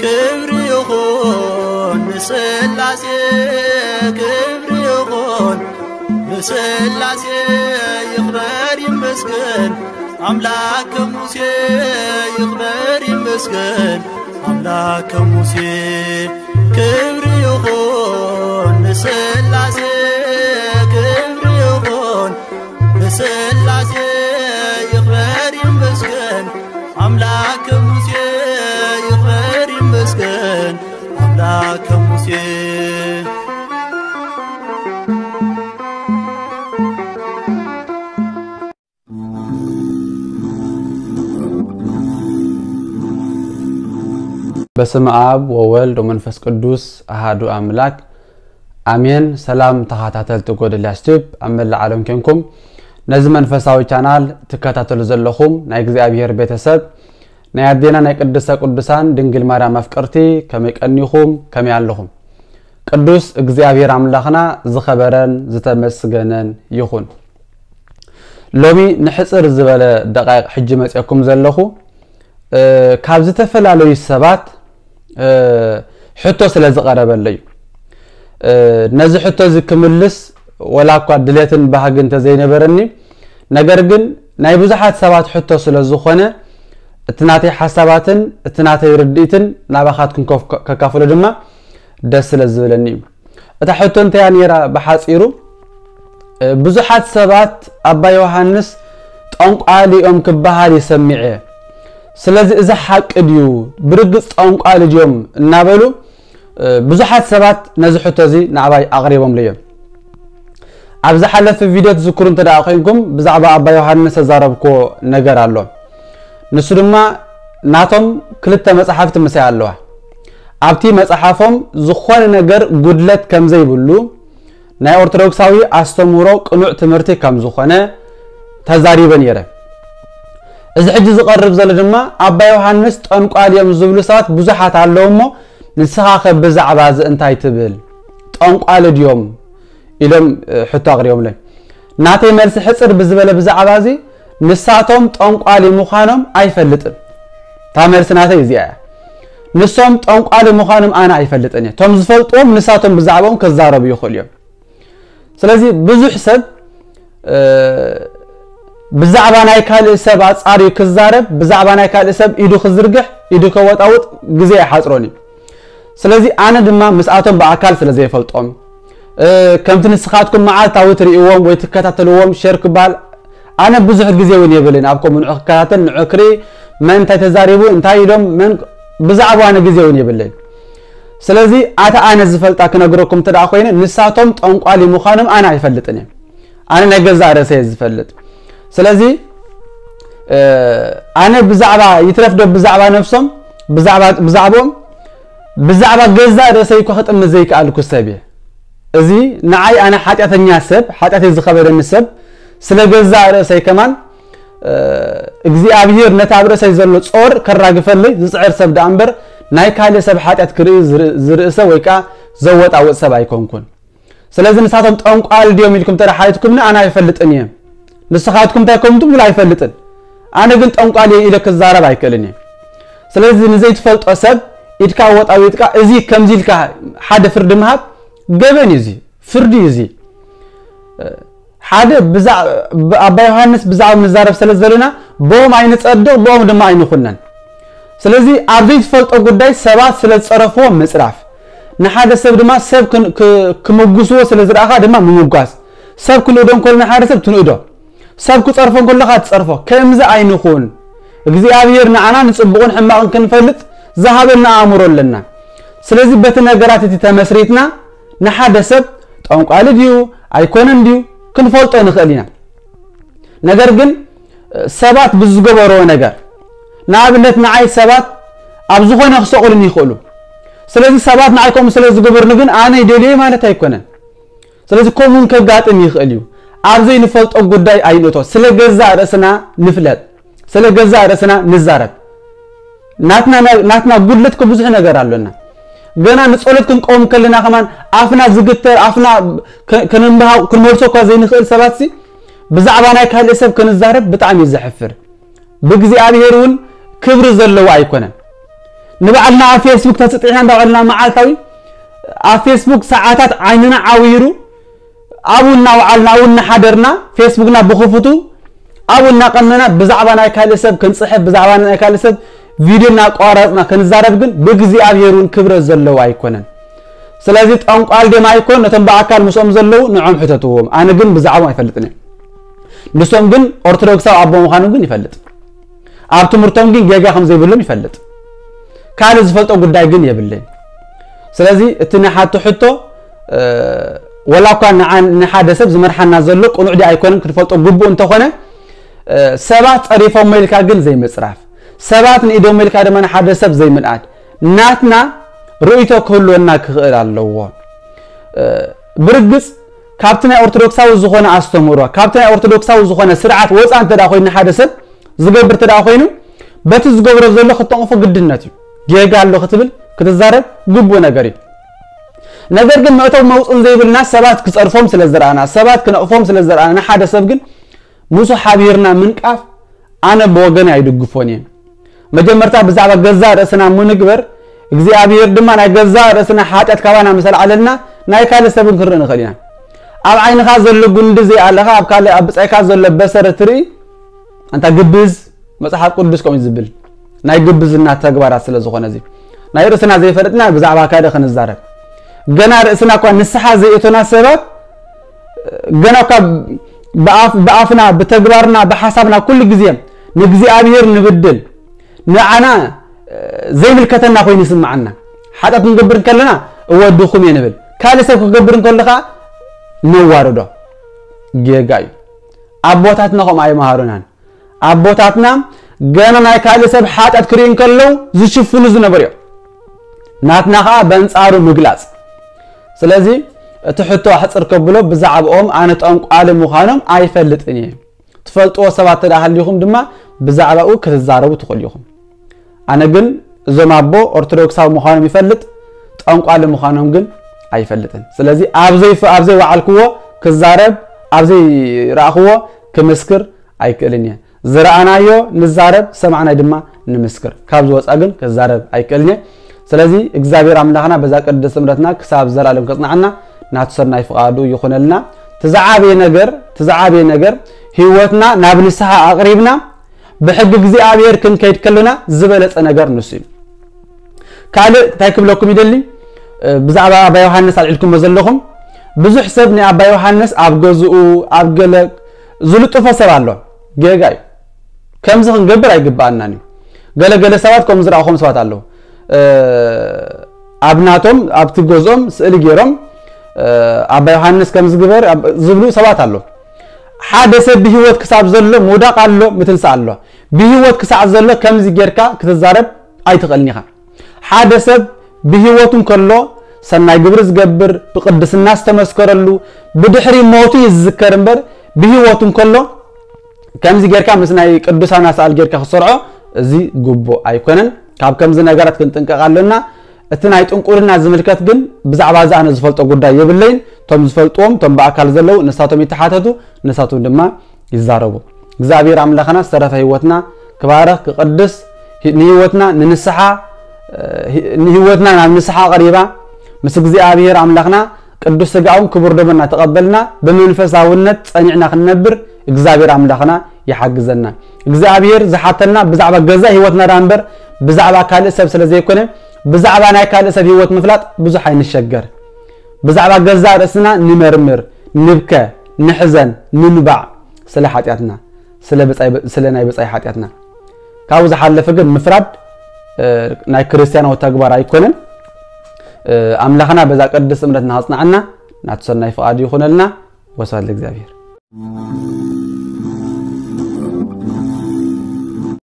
ክብሪ ይኹን ንስላሴ፣ ክብሪ ይኹን ንስላሴ፣ ይኽበር ይመስገን ኣምላክ ከሙሴ፣ ይኽበር ይመስገን ኣምላክ ከሙሴ። ክብሪ ይኹን ንስላሴ፣ ክብሪ ይኹን ንስላሴ፣ ይኽበር ይመስገን ኣምላክ ከሙሴ፣ ይኽበር ይመስገን ኣምላክ ከሙሴ። በስመ አብ ወወልድ ወመንፈስ ቅዱስ አሃዱ አምላክ አሜን። ሰላም ተኸታተልቲ ጎደልያስ ቲዩብ ኣብ መላእ ዓለም ኮንኩም ነዚ መንፈሳዊ ቻናል ትከታተሉ ዘለኹም ናይ እግዚኣብሔር ቤተሰብ ናይ ኣዴና ናይ ቅድስተ ቅዱሳን ድንግል ማርያም ኣፍቅርቲ ከመይ ቀኒኹም? ከመይ ኣለኹም? ቅዱስ እግዚኣብሔር ኣምላኽና ዝኸበረን ዝተመስገነን ይኹን። ሎሚ ንሕጽር ዝበለ ደቃይቕ ሕጂ መጽኤኩም ዘለኹ፣ እ፣ ካብ ዝተፈላለዩ ሰባት፣ እ፣ ሕቶ ስለ ዝቐረበለይ እዩ። እ፣ ነዚ ሕቶ እዚ ክምልስ ወላ እኳ ድሌትን ባህጊ እንተዘይነበረኒ፣ ነገር ግን ናይ ብዙሓት ሰባት ሕቶ ስለ ዝኾነ፣ እቲ ናተይ ሓሳባትን እቲ ናተይ ርድኢትን ናባኻትኩም ከፍ-፣ ከካፍሎ ድማ ደስ ስለ ዝብለኒ እዩ። እታ ሕቶ እንታይ እያ ነይራ ብሓጺሩ? እ፣ ብዙሓት ሰባት ኣባ ዮሃንስ ጠንቋሊ እዮም ክበሃል ይሰሚዐ። ስለዚ እዚ ሓቂ ድዩ? ብርግጽ ጠንቋሊ ድዮም? እናበሉ፣ እ፣ ብዙሓት ሰባት ነዚ ሕቶ እዚ ንዓባይ ኣቕሪቦምለይ እዮም። ኣብ ዝሓለፈ ቪድዮ ትዝክሩ እንተ ደኣ ኮይንኩም፣ ብዛዕባ ኣባ ዮሃንስ ተዛረብኮ ነገር ኣሎ። ንሱ ድማ ናቶም ክልተ መጽሓፍቲ ምሳይ ኣለዋ። ኣብቲ መጽሓፎም ዝኾነ ነገር ጉድለት ከም ዘይብሉ፣ ናይ ኦርቶዶክሳዊ ኣስተምህሮ ቅኑዕ ትምህርቲ ከም ዝኾነ ተዛሪበ ነይረ። እዚ ሕጂ ዝቐርብ ዘሎ ድማ ኣባ ዮሃንስ ጠንቋል እዮም ዝብሉ ሰባት ብዙሓት ኣለዉ እሞ፣ ንስኻ ከ ብዛዕባ እዚ እንታይ ትብል? ጠንቋል ድዮም? ኢሎም፣ እ፣ ሕቶ ኣቕሪቦምለይ። ናተይ መልሲ ሕጽር ብዝበለ ብዛዕባ እዚ፣ ንሳቶም ጠንቋሊ ምዃኖም ኣይፈልጥን። እታ መልሲ ናተይ እዚኣ እያ። ንሶም ጠንቋሊ ምዃኖም ኣነ ኣይፈልጥን እየ። እቶም ዝፈልጥዎም ንሳቶም ብዛዕባኦም ክዛረቡ ይኽእሉ እዮም። ስለዚ ብዙሕ ሰብ፣ እ፣ ብዛዕባ ናይ ካልእ ሰብ ኣጻርዩ ክዛረብ፣ ብዛዕባ ናይ ካልእ ሰብ ኢዱ ክዝርግሕ፣ ኢዱ ከወጣውጥ ግዜ ኣይሓጽሮን እዩ። ስለዚ ኣነ ድማ ምስኣቶም ብኣካል ስለ ዘይፈልጦም፣ እ፣ ከምቲ ንስኻትኩም መዓልታዊ ትርእይዎም ወይ ትከታተልዎም ሸር ክበሃል፣ ኣነ ብዙሕ ግዜ እውን የብልን ኣብ ከምኡ ንዑ ክከታተል፣ ንዑ ክርኢ፣ መን እንታይ ተዛሪቡ፣ እንታይ ኢሎም፣ መን ብዛዕባ ኣነ ግዜ እውን የብለይን። ስለዚ ኣታ ኣነ ዝፈልጣ ክነግረኩም እንተ ደኣ ኮይነ፣ ንሳቶም ጠንቋሊ ምዃኖም ኣነ ኣይፈልጥን እየ። ኣነ ናይ ገዛእ ርእሰ እየ ዝፈልጥ። ስለዚ፣ እ፣ ኣነ ብዛዕባ፣ ይትረፍ ዶ ብዛዕባ ነፍሶም፣ ብዛዕባ፣ ብዛዕባኦም፣ ብዛዕባ ገዛእ ርእሰይ እኳ ክጥምት ዘይከኣልኩ ሰብ እየ። እዚ ንዓይ ኣነ ሓጢኣተኛ ሰብ፣ ሓጢኣተይ ዝኸበደኒ ሰብ፣ ስለ ገዛእ ርእሰይ ከማን፣ እ፣ እግዚኣብሔር ነቲ ኣብ ርእሰይ ዘሎ ጾር ከራግፈለይ ዝጽዕር ሰብ ደኣ እምበር፣ ናይ ካልእ ሰብ ሓጢኣት ክርኢ ዝር-፣ ዝርእሰ ወይ ከኣ ዘወጣውጥ ሰብ ኣይኮንኩን። ስለዚ ንሳቶም ጠንቋል ድዮም ኢልኩም እንተ ደኣ ሓቲትኩምኒ ኣነ ኣይፈልጥን እየ። ንስኻትኩም እንታይ ከም ትብሉ ኣይፈልጥን። ኣነ ግን ጠንቋል እየ ኢለ ክዛረብ ኣይክእልን እየ። ስለዚ ንዘይትፈልጦ ሰብ ኢድካ ወጣዊጥካ እዚ ከምዚ ኢልካ ሓደ ፍርዲ ምሃብ ገበን እዩ እዚ፣ ፍርዲ እዩ እዚ። ሓደ ብዛ-፣ ብ-፣ ኣባ ዮሃንስ ብዛዕባ ንዛረብ ስለ ዘለና ብኦም ኣይንጸድቕ፣ ብኦም ድማ ኣይንኹነን። ስለዚ ኣብ ዘይትፈልጦ ጉዳይ ሰባት ስለ ዝጸረፍዎ ምጽራፍ፣ ንሓደ ሰብ ድማ ሰብ ክን-፣ ክ-፣ ክምጉስዎ ስለ ዝረኣኻ ድማ ምምጓስ፣ ሰብ ክንእዶ እንከሎ ንሓደ ሰብ ትንእዶ፣ ሰብ ክጸርፎ እንከለኻ ትጸርፎ፣ ከምዚ ኣይንኹን። እግዚኣብሔር ንዓና ንጽቡቕን ሕማቕን ክንፈልጥ ዝሃበና ኣእምሮ ኣለና። ስለዚ በቲ ነገራት እቲ ተመስሪትና ንሓደ ሰብ ጠንቋሊ ድዩ ኣይኮነን ድዩ ክንፈልጦ ንኽእል ኢና። ነገር ግን ሰባት ብዝገበርዎ ነገር፣ ንኣብነት ንዓይ ሰባት ኣብ ዝኾነ ክሰቕሉኒ ይኽእሉ። ስለዚ ሰባት ንዓይ ከምኡ ስለ ዝገበሩኒ ግን ኣነ ይደልዮ ማለት ኣይኮነን። ስለዚ ከምኡ እውን ከጋጥም ይኽእል እዩ። ኣብ ዘይንፈልጦ ጉዳይ ኣይንእቶ። ስለ ገዛእ ርእስና ንፍለጥ፣ ስለ ገዛእ ርእስና ንዛረብ። ናትና፣ ናትና ጉድለት እኮ ብዙሕ ነገር ኣሎና። ገና ንጸሎት ክንቀውም ከለና ከማን ኣፍና ዝግተር፣ ኣፍና ከ-፣ ከነንብሃ-፣ ክንመልሶ እኳ ዘይንኽእል ሰባት ሲ ብዛዕባ ናይ ካልእ ሰብ ክንዛረብ ብጣዕሚ እዩ ዘሕፍር። ብእግዚኣብሔር እውን ክብሪ ዘለዎ ኣይኮነን። ንባዕልና ኣብ ፌስቡክ ተጽጢሕና እንዳበልና መዓልታዊ ኣብ ፌስቡክ ሰዓታት ዓይንና ዓዊሩ ኣብኡ እናወዓልና ኣብኡ እናሓደርና ፌስቡክና ብኽፉቱ ኣብኡ እናቐነና ብዛዕባ ናይ ካልእ ሰብ ክንጽሕፍ ብዛዕባ ናይ ካልእ ሰብ ቪድዮ እናቋረጽና ክንዛረብ ግን ብእግዚኣብሔር እውን ክብረት ዘለዎ ኣይኮነን። ስለዚ ጠንቋል ደም ኣይኮን ነቶም ብኣካል ምስኦም ዘለዉ ንዖም ሕተትዎም። ኣነ ግን ብዛዕቦም ኣይፈልጥን እየ። ንሶም ግን ኦርቶዶክሳዊ ኣቦ ምዃኖም ግን ይፈልጥ። ኣብ ትምህርቶም ግን ጌጋ ከም ዘይብሎም ይፈልጥ። ካልእ ዝፈልጦ ጉዳይ ግን የብለይን። ስለዚ እቲ ንሓቱ ሕቶ ወላ እኳ ንሓደ ሰብ ዝመርሓና ዘሎ ቅኑዕ ዲ ኣይኮነን ክትፈልጦ ግቡእ እንተኾነ ሰባት ጸሪፎሞ ኢልካ ግን ዘይምጽራፍ ሰባት ንኢዶሞ ኢልካ ድማ ንሓደ ሰብ ዘይምንኣድ ናትና ርእይቶ ክህልወና ክኽእል ኣለዎ። ብርግጽ ካብቲ ናይ ኦርቶዶክሳዊ ዝኾነ ኣስተምህሮ ካብቲ ናይ ኦርቶዶክሳዊ ዝኾነ ስርዓት ወፃ እንተ ኮይኑ ሓደ ሰብ ዝገብር እንተ ኮይኑ በቲ ዝገብሮ ዘሎ ክተንቕፎ ግድነት እዩ። ጌጋ ኣሎ ክትብል ክትዛረብ ግቡእ ነገር እዩ። ነገር ግን መእተው መውፅን ዘይብልና ሰባት ክፀርፎም ስለ ዝረኣና ሰባት ክነቕፎም ስለ ዝረኣና ንሓደ ሰብ ግን ምስኡ ሓቢርና ምንቃፍ ኣነ ብወገን ኣይድግፎን እየ። መጀመርታ ብዛዕባ ገዛእ ርእስና ምንግበር እግዚኣብሔር ድማ ናይ ገዛእ ርእስና ሓጢኣት ካባና ምስ ኣልዓለልና ናይ ካልእ ሰብን ክንርኢ ንኽእል ኢና። ኣብ ዓይንኻ ዘሎ ጉንዲ ዘይኣለኻ ኣብ ካልእ ኣብ ብጻይካ ዘሎ በሰረ ትርኢ ኣንታ ግብዝ። መጽሓፍ ቅዱስ ከምኡ ዝብል ናይ ግብዝና ተግባራት ስለ ዝኾነ እዚ ናይ ርእስና ዘይፈለጥና ብዛዕባ ካልእ ክንዛረብ ገና ርእስና እኳ ንስሓ ዘይእቶና ሰባት ገና እኳ ብኣፍና ብተግባርና ብሓሳብና ኩሉ ግዜ ንእግዚኣብሔር ንብድል ንዓና ዘይምልከተና ኮይኑ ይስምዓና። ሓጢኣት ክንገብር እንከለና እወ ድኹም እየ ንብል። ካልእ ሰብ ክገብር እንከሎ ከዓ ነዋርዶ። ጌጋ እዩ። ኣቦታትና ከምኡ ኣይመሃሩናን። ኣቦታትና ገና ናይ ካልእ ሰብ ሓጢኣት ክርእዩ እንከለዉ ዝሽፍኑ ዝነበሩ እዮም። ናትና ከዓ በንጻሩ ምግላጽ። ስለዚ እቲ ሕቶ ኣሕፅር ከብሎ ብዛዕባኦም ኣነ ጠንቋሊ ምዃኖም ኣይፈልጥን እየ። ትፈልጥዎ ሰባት ተዳ ሃሊኹም ድማ ብዛዕባኡ ክትዛረቡ ትኽእሉ ኢኹም። ኣነ ግን እዞም ኣቦ ኦርቶዶክሳዊ ምዃኖም ይፈልጥ፣ ጠንቋሊ ምዃኖም ግን ኣይፈልጥን። ስለዚ ኣብ ዘይፍ- ኣብ ዘይወዓልክዎ ክዛረብ፣ ኣብ ዘይረኣኽዎ ክምስክር ኣይክእልን እየ። ዝረኣናዮ ንዛረብ፣ ዝሰማዕናዮ ድማ ንምስክር። ካብ ዝወፃ ግን ክዛረብ ኣይክእልን እየ። ስለዚ እግዚኣብሔር ኣምላኽና በዛ ቅድስቲ እምነትና ክሳብ ዘላለም ከጽንዓና ናቱ ሰናይ ፍቓዱ ይኹነልና። ትዝዓበየ ነገር ትዝዓበየ ነገር ህይወትና ናብ ንስሓ ኣቕሪብና ብሕጊ እግዚኣብሔር ክንከይድ ከለና ዝበለጸ ነገር ንሱ እዩ። ካልእ እንታይ ክብለኩም ይደሊ? ብዛዕባ ኣባ ዮሃንስ ኣልዒልኩሞ ዘለኹም ብዙሕ ሰብ ናይ ኣባ ዮሃንስ ኣብ ገዝኡ ኣብ ገለ ዝልጥፎ ሰብ ኣሎ። ጌጋ እዩ። ከምዚ ክንገብር ኣይግብኣናን እዩ። ገለ ገለ ሰባት ከም ዝረኣኹም ሰባት ኣለዉ። ኣብ ናቶም ኣብቲ ገዝኦም ስእሊ ገይሮም ኣባ ዮሃንስ ከም ዝግበር ዝብሉ ሰባት ኣለዉ። ሓደ ሰብ ብህይወት ክሳብ ዘሎ ምውዳቕ ኣሎ፣ ምትንሳእ ኣሎ። ብህይወት ክሳዕ ዘሎ ከምዚ ጌርካ ክትዛረብ ኣይትኽእልን ኢኻ። ሓደ ሰብ ብህይወቱ እንከሎ ሰናይ ግብሪ ዝገብር ብቅድስና ዝተመስከረሉ ብድሕሪ ሞቱ እዩ ዝዝከር እምበር ብህይወቱ እንከሎ ከምዚ ጌርካ ምስ ናይ ቅዱሳን ኣስኣል ጌርካ ክሰርዖ እዚ ግቡእ ኣይኮነን። ካብ ከምዚ ነገራት ክንጥንቀቕ ኣሎና። እቲ ናይ ጥንቁልና ዝምልከት ግን ብዛዕባ እዚ ኣነ ዝፈልጦ ጉዳይ የብለይን። እቶም ዝፈልጥዎም እቶም ብኣካል ዘለዉ ንሳቶም ይተሓተቱ፣ ንሳቶም ድማ ይዛረቡ። እግዚኣብሔር ኣምላኽና ዝተረፈ ህይወትና ክባረኽ ክቕድስ ንህይወትና ንንስሓ ንህይወትና ናብ ንስሓ ቀሪባ ምስ እግዚኣብሔር ኣምላኽና ቅዱስ ስጋውን ክቡር ደሙ እናተቐበልና ብመንፈሳውነት ጸኒዕና ክንነብር እግዚኣብሔር ኣምላኽና ይሓግዘና። እግዚኣብሔር ዝሓተና ብዛዕባ ገዛ ህይወትና ዳ እምበር ብዛዕባ ካልእ ሰብ ስለ ዘይኮነ ብዛዕባ ናይ ካልእ ሰብ ህይወት ምፍላጥ ብዙሕ ኣይንሸገር። ብዛዕባ ገዛ ርእስና ንመርምር፣ ንብከ፣ ንሕዘን፣ ንንባዕ ስለ ሓጢኣትና ስለ ናይ ብጻይ ሓጢኣትና ካብኡ ዝሓለፈ ግን ምፍራድ ናይ ክርስትያናዊ ተግባር ኣይኮነን። ኣምላኽና በዛ ቅድስቲ እምነትና ኣጽንዓና። ናቱ ሰናይ ፍቓዱ ይኹነልና። ወስብሐት ለእግዚኣብሔር።